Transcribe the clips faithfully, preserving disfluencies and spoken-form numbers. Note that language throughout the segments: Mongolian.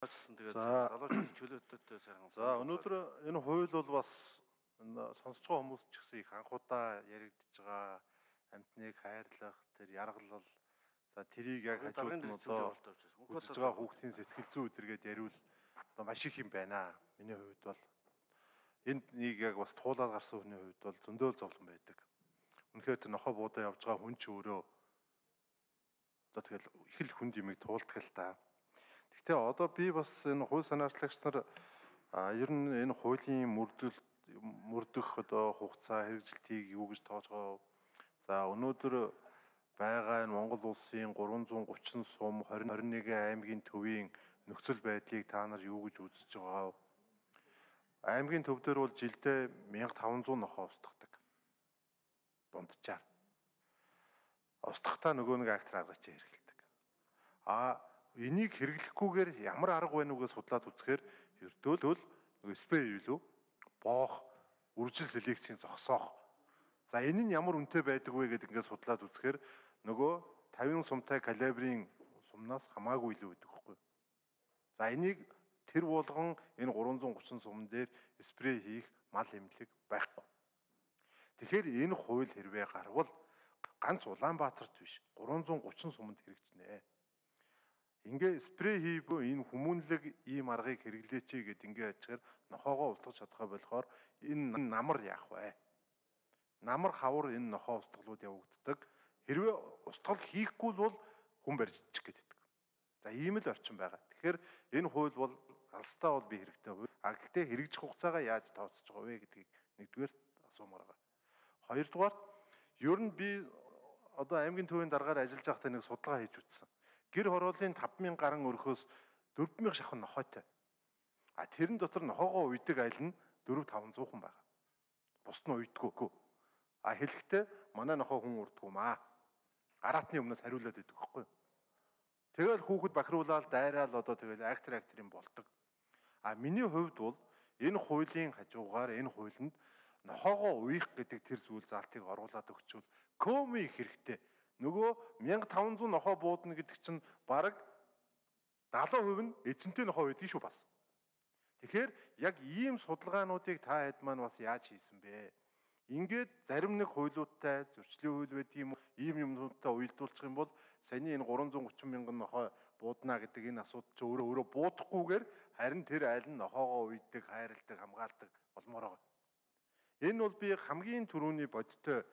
Тэгээд За. залуучууд чөлөөттэй сайхан. За өнөөдөр энэ хууль бол бас сонсож байгаа хүмүүс ч гэсэн их анхудаа яригдж байгаа амьтныг хайрлах, тэр яргалал, за тэрийг яг хажууд нь одоо үзэж байгаа хүүхдийн сэтгэл зүй өдөргээд яриул одоо маш их юм байна. Миний хувьд бол энд нэг яг бас туулаад гарсан хүний хувьд бол зөндөөл зовлон байдаг. Үнэхээр тэр нохоо буудаа явж байгаа хүн ч өөрөө одоо тэгэл их л хүнд юмыг туулдаг л та. Гэхдээ одоо би бас энэ хууль санаачлагч нар ер нь энэ хуулийн мөрдөл мөрдөх одоо хугацаа хэрэгжилтийг юу гэж тоож байгаа. За өнөөдөр байгаа энэ Монгол улсын гурван зуун гучин сум двадцать одны аймгийн төвийн нөхцөл байдлыг та нар юу гэж үзэж байгаа вэ? Аймгийн төв дээр бол жилдээ мянга таван зуун нохоо устгадаг. Дунджаар. Устгахтаа нөгөө нэг актер аргач хэрэгэлдэг. А энийг хэрэглэхгүйгээр ямар арга байна уу гэж судлаад үзэхээр ердөө л нөгөө спрей юу боох, үржил селекцийн зогсоох. За энэ нь ямар үнэтэй байдаг вэ гэдээ ингээд судлаад үзэхээр нөгөө тавин сумтай калибрийн сумнаас хамаагүй илүү байдаг байхгүй. За энийг тэр болгон энэ гурван зуун гучин сумн дээр спрей хийх мал эмнэлэг байхгүй. Тэгэхээр энэ хууль хэрвээ гарвал ганц Улаанбаатарт биш гурван зуун гучин суманд хэрэгжинэ. Ингээ спрей хийбөө энэ хүмүүнлэг ийм аргыг хэрэглээч гэд ингээ ачаар нохоогоо устгах чадхаа болохоор энэ намар яах вэ? Намар хавар энэ нохоо устгалууд явагддаг. Хэрвээ устгал хийхгүй бол хүн барьж ичих гэдэг. За ийм л орчин байгаа. Тэгэхээр энэ хууль бол алстаа бол би хэрэгтэй хууль. А гэхдээ хэрэгжих хугацаагаа яаж тооцож байгаа вэ гэдгийг нэгдүгээр асуумаар байгаа. Хоёрдугаар ер нь би одоо аймгийн төвийн дараагаар ажиллаж байхдаа нэг судалгаа хийж үзсэн. Гэр хорооллын таван мянган гаруй өрхөөс дөрвөн мянган шахын нохойтой. А тэрэн дотор нохоогоо уйдаг айл нь дөрвөн таван зуун хүн байгаа. Бусд нь уйдаггүй. А хэлэхдээ манай нохоо хүн урдгүй маа. Араатны өмнөөс хариулаад идэг байхгүй. Тэгэл хүүхэд бахируулаад дайраал одоо тэгэл актер актерын болдог. А миний хувьд бол энэ хуулийн хажуугаар энэ хуулинд нохоогоо уйх гэдэг тэр зүйл заалтыг оруулаад өгчвөл коми их хэрэгтэй. Нөгөө мянга таван зуун нохоо буудна гэдэг чинь бараг дагалан хувь нь эзэнтэй нохоо байдаг шүү бас. Тэгэхээр яг ийм судалгаануудыг та хэд маань бас яаж хийсэн бэ? Ингээд зарим нэг хуйлуудтай зөрчлийн хууль байдаг юм уу? Ийм юмнуудтай уялдуулчих юм бол саяны энэ гурван зуун гучин мянган нохоо буудна гэдэг энэ асуудал ч өөрөө өөрөө буудахгүйгээр харин тэр айл нь нохоогоо уйдаг, хайрладаг, хамгаалдаг болмоор байгаа. Энэ бол би хамгийн түрүүний бодтой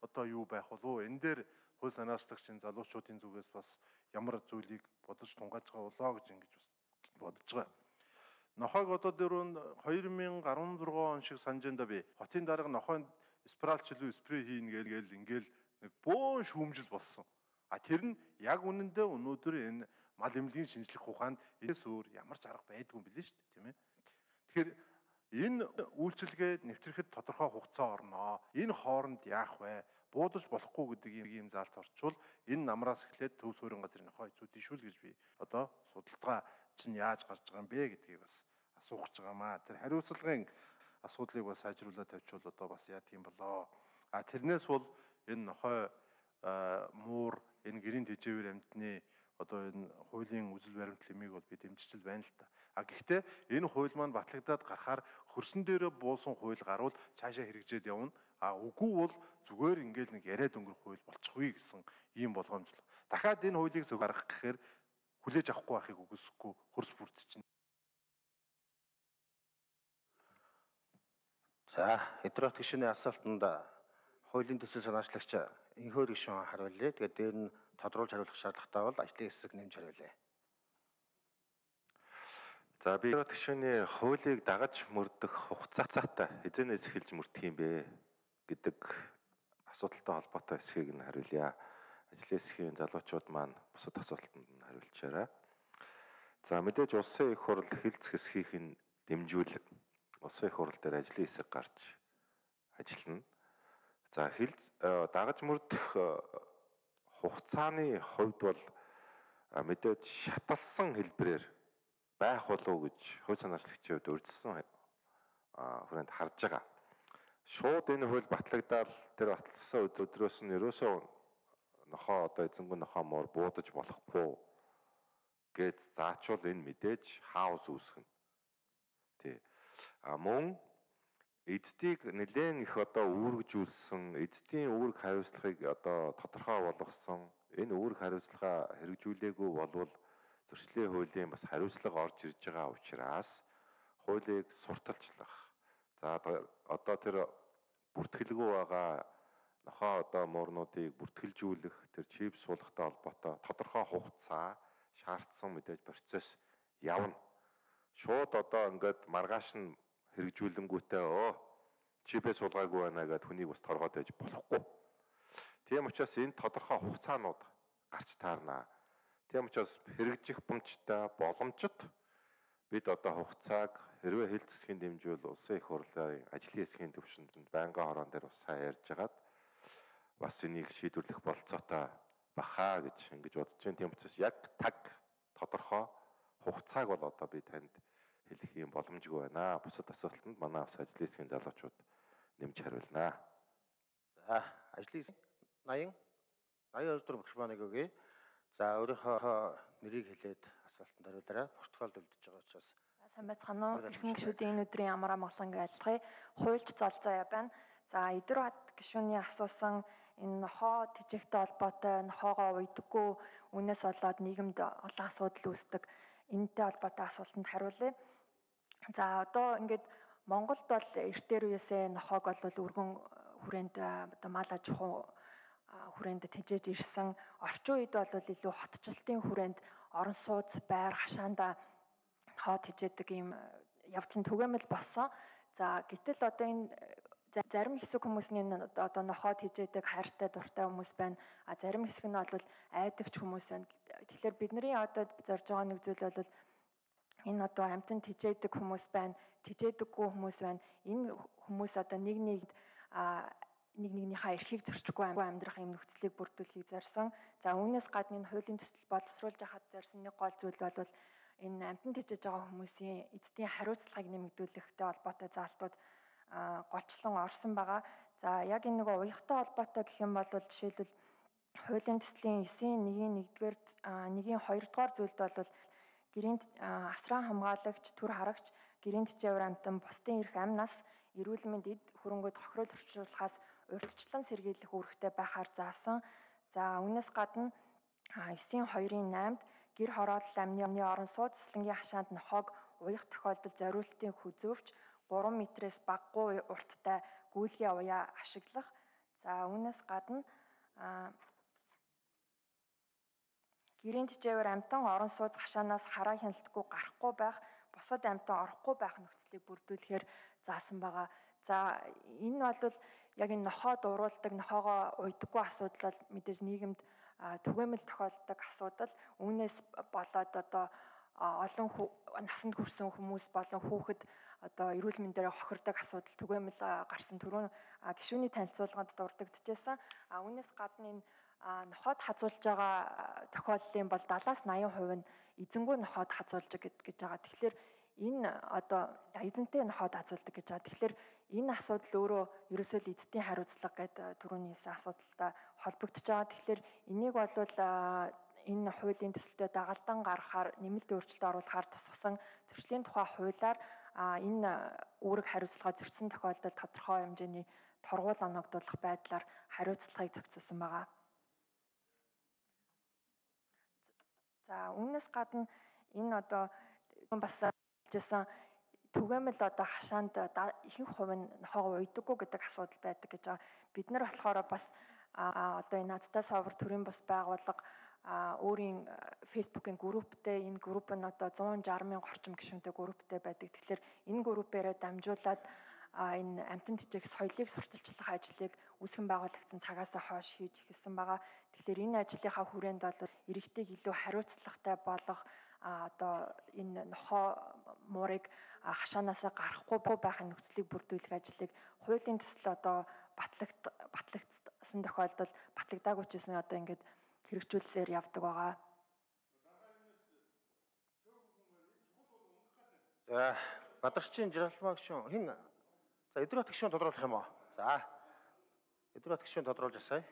одоо юу байх болов? Энэ дээр хууль санаачлагчийн залуучуудын зүгээс бас ямар зүйлийг бодож тунгааж байгаа болоо гэж ингэж бас бодож байгаа. Нохойг одоо дөрөв хоёр мянган арван зургаан он шиг санаж энэ би хотын дарга нохойд спиралчлуу спрей хийн гээл ингээл нэг бөөн шүүмжил болсон. А тэр нь яг үнэндээ өнөөдөр энэ мал эмнэлгийн шинжлэх ухаанд энэс өөр ямар ч арга байдгүй юм билээ шүү дээ, тийм ээ. Тэгэхээр энэ үйлчилгээ нэвтрэхэд тодорхой хугацаа орноо. Энэ хооронд яах вэ? Буудаж болохгүй гэдэг ийм заалт орчвол энэ намраас эхлээд төв суурин газрын нохой эзүүдийн шүүл гэж би одоо судалгаа чинь яаж гарч байгаа юм бэ гэдгийг бас асуух гэж байгаамаа. Тэр хариуцлагын асуудлыг бас сайжруулаад тавьчвал одоо бас яа тийм болоо. А тэрнээс бол энэ нохой муур энэ гэрийн тэжээвэр амьтны одоо энэ хуулийн үзэл баримт лимийг бол би дэмжиж байна л та. А гэхдээ энэ хууль маань батлагдаад гарахаар хөрсөн дээрээ буусан хууль гарвал цаашаа хэрэгжээд явна. А үгүй бол зүгээр ингээл нэг яриад өнгөрөх хууль болчихгүй гэсэн ийм болгоомжлоо. Дахиад энэ хуулийг зөв гаргах гэхээр хүлээж авахгүй байхыг үгүйсэхгүй хөрс бүрдчихнэ. За, Хэдрот гишүүний асуултанд хуулийн төсөл санаачлагч Инхөр гишүүн хариулъя. Тэгээд дээр нь тодруулж хариулах шаардлагатай бол ажлын хэсэг нэмж хариулъя. За би Хэдрот гишүүний хуулийг дагаж мөрдөх хугацаатай эзэнээс эхэлж мөрдөх юм бэ гэдэг асуудалтай холбоотой хэсгийг нь хариулъя. Ажлын хэсгийн залуучууд маань бусад асуултанд нь хариулчаарай. За мэдээж улсын их хурл хэлц хэсгийнх нь дэмжүүлэг улсын их хурл дээр ажлын хэсэг гарч ажиллана. За хэлц дагаж мөрдөх хугацааны хувьд бол мэдээж шаталсан хэлбэрээр байх болов гэж хууль санаачлагчийн хувьд урьдчилсан хүрээнд харж байгаа. Шууд энэ хууль батлагдаад тэр батлсан өдрөөс нь ерөөсөө нохоо одоо эзэнгүй нохоо муур буудаж болохгүй гэж заачвал энэ мэдээж хаос үүсгэнэ. Тий. А мөн эцдийг нэлээд их одоо үүргэжүүлсэн, эцдийн үүрэг хариуцлагыг одоо тодорхой болгосон, энэ үүрэг хариуцлагаа хэрэгжүүлээгүй болвол зөрчлийн хуулийн бас хариуцлага орж ирж байгаа учраас хуулийг сурталчлах. За одоо тэр бүртгэлгүй байгаа нохоо одоо муурнуудыг бүртгэлжүүлэх, тэр чип суулгахтай холбоотой тодорхой хугацаа шаардсан мэдээж процесс явна. Шууд одоо ингээд маргааш нь хэрэгжүүлэнгүүтээ өө чипээ суулгаагүй байна гэдээ хүнийг бас торгоод байж болохгүй. Тийм учраас энэ тодорхой хугацаанууд гарч таарна. Тийм учраас хэрэгжих боломжтой боломжит бид одоо хугацааг хэрвээ хил засгийн дэмжүүл улсын их хурлын ажлын хэсгийн төвшөнд байнгын хороон дээр бас сайн ярьж хагаад бас энийг шийдвэрлэх болцоотой бахаа гэж ингэж бодож байна. Тийм учраас яг таг тодорхой хугацааг бол одоо би танд хэлэх юм боломжгүй байна. Бусад асуултанд манай бас ажлын хэсгийн залуучууд нэмж хариулнаа. За, ажлын хэсэг ноён ноён өдөр микрофоныг өгье. За, өөрийнхөө нэрийг хэлээд асуултанд хариулаарай. Протоколд үлдэж байгаа учраас. Сайн байцгаана уу? Эрхэм гишүүдийн энэ өдрийн ямар амгаланг айлтгая. Хуульч золзоо байна. За, Идэрбат гишүүний асуусан энэ нохоо тэжээхтэй холбоотой нохоогоо уйдаггүй үнээс болоод нийгэмд олон асуудал үүсдэг. Энэтэй холбоотой асуултанд хариулъя. За, одоо ингээд Монголд бол эртээр үеэсээ нохоог бол өргөн хүрээнд одоо мал аж ахуй хүрээнд тэжээж ирсэн. Орчин үед бол илүү хотчлтын хүрээнд орон сууц, байр, хашаанда нохоо тэжээдэг ийм явдал нь түгээмэл болсон. За, гэтэл одоо энэ зарим хэсэг хүмүүсийн одоо нохоо тэжээдэг хайртай дуртай хүмүүс байна. А зарим хэсэг нь бол айдагч хүмүүс байна. Тэгэхээр бидний одоо зорж байгаа нэг зүйл бол энэ одоо амьтан тэжээдэг хүмүүс байна, тэжээдэггүй хүмүүс байна. Энэ хүмүүс одоо нэг нэгд нэг нэгнийхээ эрхийг зөрчихгүй амьдрах юм нөхцөлийг бүрдүүлэхийг зорьсон. За үүнээс гадна энэ хуулийн төсөл боловсруулж яхад зорьсон нэг гол зүйл бол энэ амьтан тэжээж байгаа хүмүүсийн эцдийн хариуцлагыг нэмэгдүүлэхтэй холбоотой заалтууд голчлон орсон байгаа. За яг энэ нэг уяхтай холбоотой гэх юм бол жишээлбэл хуулийн төслийн девять нэг нэгдүгээр нэгin хоёрдугаар зүйлд бол гэрээнд асран хамгаалагч, төр харагч, гэрээнд чивэр амьтан бусдын эрх амнаас эрүүл мэнд эд хөрөнгөд хохирол орчуулахаас урьдчилан сэргийлэх үүрэгтэй байхаар заасан. За үүнээс гадна девять хоёрын восьмид гэр хороолол амны орон сууц цэцлэнгийн хашаанд нохоог уях тохиолдолд зориултын хүзөвч гурван метрээс багагүй урттай гүйлгээ уяа ашиглах. За үүнээс гадна гэрээнд чивэр амьтан орон сууц хашаанаас хараа хяналтгүй гарахгүй байх, бусад амьтан орохгүй байх нөхцөлийг бүрдүүлэхээр заасан байгаа. За энэ бол яг энэ нохоо дуруулдаг, нохоогоо уйдаггүй асуудал бол мэдээж нийгэмд түгээмэл тохиолддог асуудал. Үүнээс болоод одоо олон насанд хүрсэн хүмүүс болон хүүхэд одоо эрүүл мэндээр хохирдог асуудал түгээмэл гарсан түрүүн гишүүний танилцуулганд дурддагчээсэн. А үүнээс гадна энэ нохоод хазуулж байгаа тохиолдлын бол дадлаас восемьдесят хувь нь эзэнгүй нохоод хазуулж гэж байгаа. Тэгэхээр энэ одоо эзэнтэй нохоод хазуулдаг гэж байгаа. Тэгэхээр энэ асуудал өөрөө ерөөсөө л эзэдийн хариуцлага гэдэг түрүүний хэлсэн асуудалтай холбогдож байгаа. Тэгэхээр энийг бол энэ хуулийн төсөлтөд дагалдан гаргахаар, нэмэлт өөрчлөлт оруулахаар тусгасан зөрчлийн тухай хуулиар энэ үүрэг хариуцлага зөрчсөн тохиолдолд тодорхой хэмжээний торгуул оногдуулах байдлаар хариуцлагыг зохицуулсан байгаа. За үүнээс гадна энэ одоо бас хэлжсэн түгээмэл одоо хашаанд ихэнх хувь нь нохоогоо уйдаггүй гэдэг асуудал байдаг гэж байгаа. Бид нар болохоор бас одоо энэ Азтай совор төрийн бас байгууллага өөрийн фейсбુકийн групптэй, энэ групп нь одоо one sixty мянган орчим гишүүнтэй групптэй байдаг. Тэгэхээр энэ группээрээ дамжуулаад энэ амьтан тэжээх соёлыг сурталчлах ажлыг үүсгэн байгуулагдсан цагаас хойш хийж эхэлсэн байгаа. Тэгэхээр энэ ажлынхаа хүрээнд бол иргэдийг илүү хариуцлагатай болгох одоо энэ нохоо муурыг хашаанаасаа гарахгүй байхын нөхцөлийг бүрдүүлэх ажлыг хуулийн төсөл одоо батлагд батлагдсан тохиолдолд батлагдаагүй ч гэсэн одоо ингээд хэрэгжүүлсээр явдаг байгаа. За, Бадарчин Жиралмаа гишүүн хин за Идэрбат гишүүн тодруулах юм уу? За. Идэрбат гишүүн тодруулж асаая.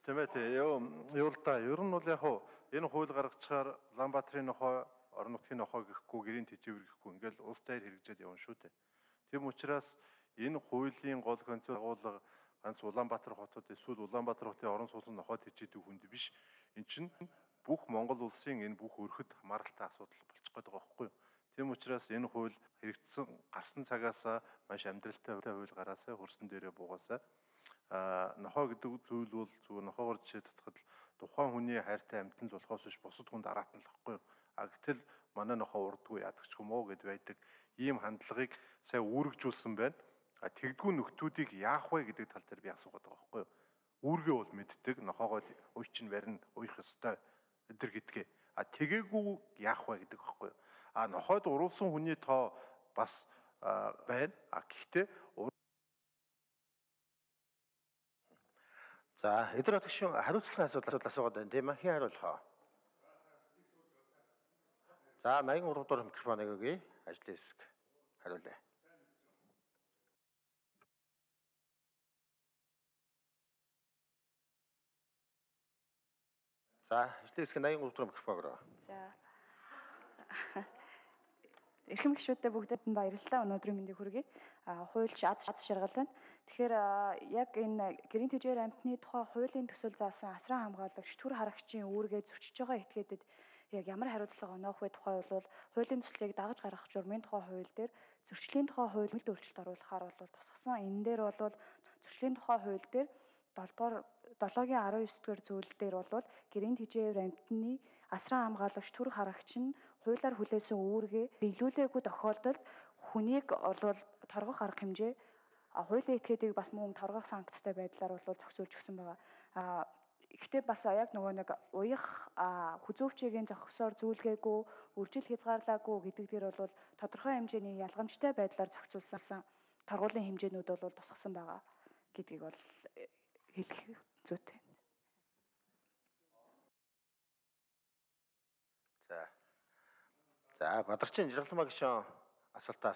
Тийм ээ тий. Юу юу л да. Ер нь бол яг хуу энэ хууль гаргацгаар Улаанбаатарын нохой, орон нутгийн нохой гэхгүй, гэрийн тэжээвэр гэхгүй ингээл улс даяар хэрэгжээд явна шүү дээ. Тийм учраас энэ хуулийн гол концепт агуулга ганц Улаанбаатар хотод эсвэл Улаанбаатар хотын орон сууцны нохой тэжээдэг хүнд биш. Энд чинь бүх Монгол улсын энэ бүх өрхөд хамааралтай асуудал болчих гээд байгаа байхгүй юу? Тийм учраас энэ хууль хэрэгжсэн гарсан цагаас маш амьдралтай хууль гараасаа хөрсөн дээрээ буугаасаа а нохой гэдэг зүйл бол зүгээр нохоогоор жишээ татхад тухайн хүний хайртай амьтан л болохоос биш бусад хүнд араатан л байхгүй юу? А гэтэл манай нохой урдгүй яадаг ч юм уу гэд байдаг ийм хандлагыг сая үүргэжүүлсэн байна. А тэгдгүү нөхдүүдийг яах вэ гэдэг тал дээр би асуугаад байгаа байхгүй юу? Үүргээ бол мэддэг, нохоогоо уй чинь барин уйх ёстой өдр гэдгээ. А тэгээгүй яах вэ гэдэг байхгүй юу? А нохойд уруулсан хүний тоо бас байна. А гэхдээ За, эдгээр гишүүн хариуцлагын асуудал асуугаад байна тийм ээ. Хэн хариулах вэ? За, восемьдесят три дугаар микрофоныг өгье. Ажлын хэсэг хариулъя. За, ажлын хэсэг восемьдесят три дугаар микрофон өрөө. За. Эрхэм гишүүдтэй бүгдэд нь баярлалаа. Өнөөдрийн мэндийг хүргэе. А хуульч аз шаргал байна. Тэгэхээр яг энэ гэрийн тэжээр амьтны тухай хуулийн төсөл заасан асран хамгаалагч төр харагчийн үүргээ зөрчиж байгаа этгээдэд яг ямар хариуцлага оноох вэ тухай бол хуулийн төслийг дагаж гаргах журмын тухай хууль дээр зөрчлийн тухай хууль нэмэлт өөрчлөлт оруулахаар бол тусгасан. Энэ дээр бол зөрчлийн тухай хууль дээр долоогийн арван ёс дугаар зүйл дээр бол гэрийн тэжээр амьтны асран хамгаалагч төр харагч нь хуулиар хүлээсэн үүргээ биелүүлээгүй тохиолдолд хүнийг олвол торгох арга хэмжээ хуулийн этгээдийг бас мөн торгох санкцтай байдлаар бол зохицуулж өгсөн байгаа. А ихтэй бас яг нөгөө нэг уях хүзүүвчгийн зохисоор зүйлгээгүй, үржил хязгаарлаагүй гэдэг дээр бол тодорхой хэмжээний ялгамжтай байдлаар зохицуулсан торгуулийн хэмжээнүүд бол тусгасан байгаа гэдгийг бол хэлэх зүйтэй. За. За, Бадарчин Жаргалмаа гишүүн асуултаас